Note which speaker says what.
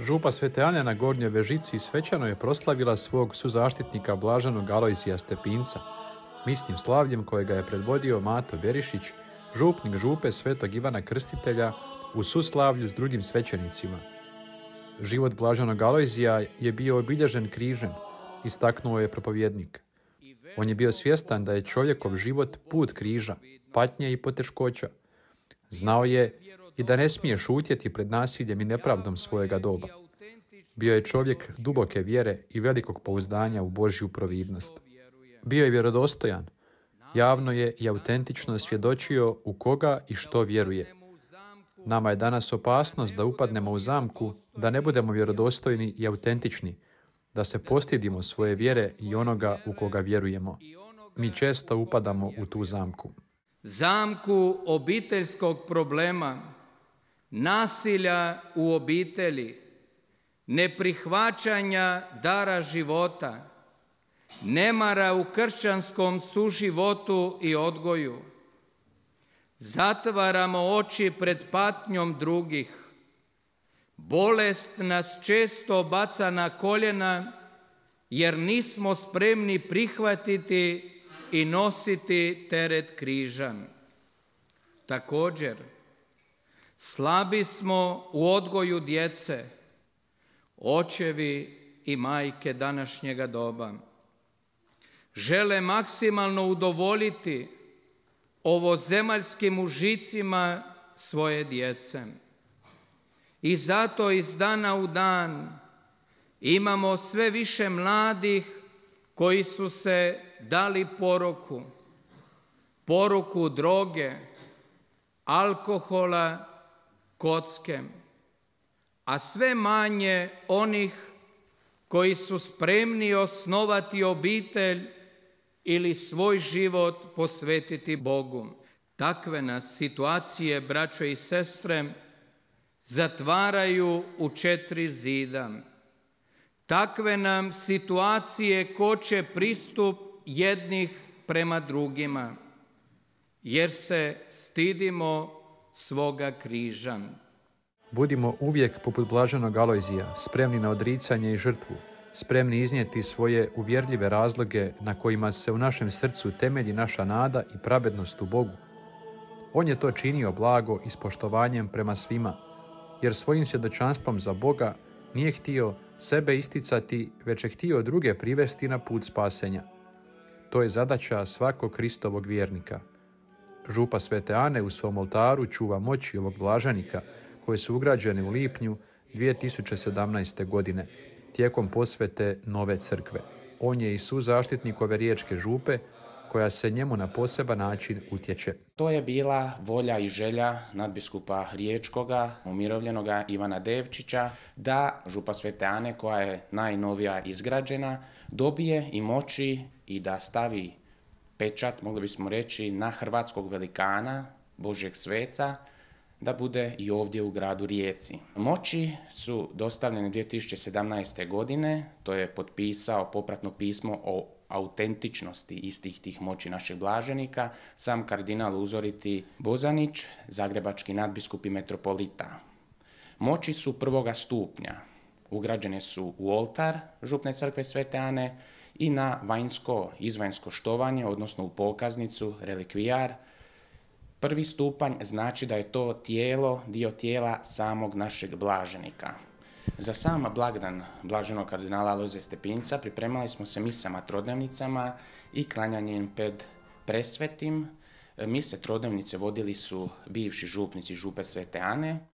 Speaker 1: Župa Svete Ane na Gornjoj Vežici svečano je proslavila svog suzaštitnika blaženog Alojzija Stepinca, misnim slavljem kojega je predvodio Mato Berišić, župnik župe Svetog Ivana Krstitelja, u suslavlju s drugim svećenicima. Život blaženog Alojzija je bio obilježen križem, istaknuo je propovjednik. On je bio svjestan da je čovjekov život put križa, patnje i poteškoća. Znao je i da ne smije šutjeti pred nasiljem i nepravdom svojega doba. Bio je čovjek duboke vjere i velikog pouzdanja u Božju providnost. Bio je vjerodostojan. Javno je i autentično svjedočio u koga i što vjeruje. Nama je danas opasnost da upadnemo u zamku, da ne budemo vjerodostojni i autentični, da se postidimo svoje vjere i onoga u koga vjerujemo. Mi često upadamo u tu zamku.
Speaker 2: Zamku obiteljskog problema, nasilja u obitelji, neprihvaćanja dara života, nemara u kršćanskom suživotu i odgoju. Zatvaramo oči pred patnjom drugih. Bolest nas često baca na koljena jer nismo spremni prihvatiti i nositi teret križa. Također, slabi smo u odgoju djece, očevi i majke današnjega doba. Žele maksimalno udovoljiti ovozemaljskim užicima svoje djece. I zato iz dana u dan imamo sve više mladih koji su se dali poruku droge, alkohola, kocke, a sve manje onih koji su spremni osnovati obitelj ili svoj život posvetiti Bogu. Takve nas situacije, braćo i sestre, zatvaraju u 4 zida. Takve nam situacije koče pristup jednih prema drugima, jer se stidimo svoga križa.
Speaker 1: Budimo uvijek poput blaženog Alojzija, spremni na odricanje i žrtvu, spremni iznijeti svoje uvjerljive razloge na kojima se u našem srcu temelji naša nada i pravednost u Bogu. On je to činio blago i s poštovanjem prema svima, jer svojim svjedočanstvom za Boga nije htio sebe isticati, već je htio druge privesti na put spasenja. To je zadaća svakog Kristovog vjernika. Župa Svete Ane u svom oltaru čuva moći ovog blaženika, koje su ugrađene u lipnju 2017. godine, tijekom posvete nove crkve. On je i suzaštitnik ove riječke župe, koja se njemu na poseban način utječe.
Speaker 3: To je bila volja i želja nadbiskupa riječkoga, umirovljenoga Ivana Devčića, da župa Svete Ane, koja je najnovija izgrađena, dobije i moći i da stavi pečat, mogli bismo reći, na hrvatskog velikana, Božjeg sveca, da bude i ovdje u gradu Rijeci. Moći su dostavljene 2017. godine, to je potpisao popratno pismo o autentičnosti istih tih moći našeg blaženika, sam kardinal uzoriti Bozanić, zagrebački nadbiskup i metropolita. Moći su 1. stupnja, ugrađene su u oltar župne crkve Svete Ane i na izvanjsko štovanje, odnosno u pokaznicu, relikvijar. 1. stupanj znači da je to dio tijela samog našeg blaženika. Za sam blagdan blaženog kardinala Alojzija Stepinca pripremali smo se misama trodnevnicama i klanjanjem pred presvetim. Mise trodnevnice vodili su bivši župnici župe Svete Ane.